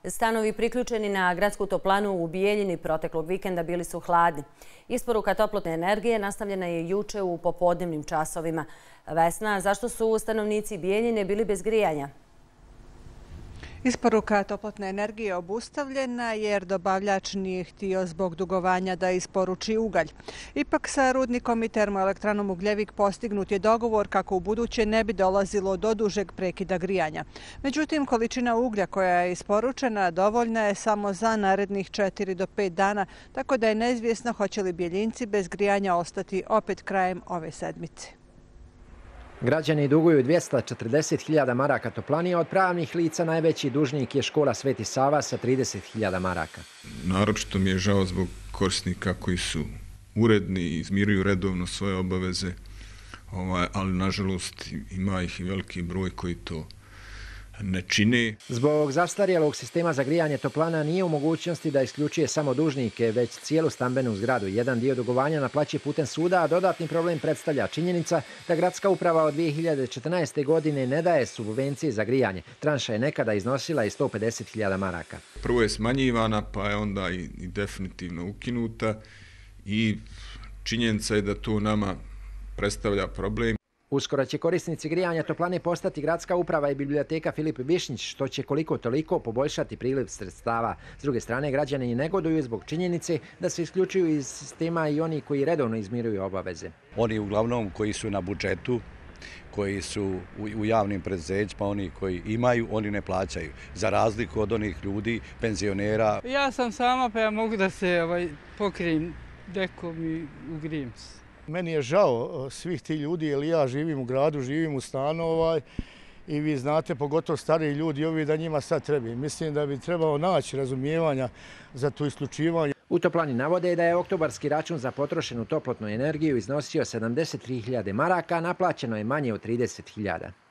Stanovi priključeni na gradsku toplanu u Bijeljini proteklog vikenda bili su hladni. Isporuka toplotne energije nastavljena je juče u popodnevnim časovima. Vesna, zašto su stanovnici Bijeljine bili bez grijanja? Isporuka toplotne energije obustavljena jer dobavljač nije htio zbog dugovanja da isporuči ugalj. Ipak sa rudnikom i termoelektranom Ugljevik postignut je dogovor kako u buduće ne bi dolazilo do dužeg prekida grijanja. Međutim, količina uglja koja je isporučena dovoljna je samo za narednih 4 do 5 dana, tako da je neizvjesno hoće li Bijeljinci bez grijanja ostati opet krajem ove sedmice. Građani duguju 240.000 maraka toplani, a od pravnih lica najveći dužnik je škola Sveti Sava sa 30.000 maraka. Naročito mi je žao zbog korisnika koji su uredni i izmiruju redovno svoje obaveze, ali nažalost ima ih i veliki broj koji to ne čini. Zbog zastarjelog sistema za grijanje toplana nije u mogućnosti da isključuje samo dužnike, već cijelu stambenu zgradu. Jedan dio dugovanja naplaćuje putem suda, a dodatni problem predstavlja činjenica da gradska uprava od 2014. godine ne daje subvencije za grijanje. Tranša je nekada iznosila i 150.000 maraka. Prvo je smanjivana, pa je onda i definitivno ukinuta i činjenica je da to nama predstavlja problem. Uskoro će korisnici grijanja toplane postati gradska uprava i biblioteka Filip Višnjić, što će koliko toliko poboljšati priliv sredstava. S druge strane, građani negoduju zbog činjenice da se isključuju iz sistema i oni koji redovno izmiruju obaveze. Oni uglavnom koji su na budžetu, koji su u javnim preduzećima, oni koji imaju, oni ne plaćaju. Za razliku od onih ljudi, penzionera. Ja sam sama, pa ja mogu da se pokrijem dekom i ugrijem se. Meni je žao svih tih ljudi jer ja živim u gradu, živim u stanu i vi znate, pogotovo stariji ljudi ovi da njima sad treba. Mislim da bi trebalo naći razumijevanja za to isključivanje. U toplani navode da je oktobarski račun za potrošenu toplotnu energiju iznosio 73.000 maraka, a naplaćeno je manje od 30.000.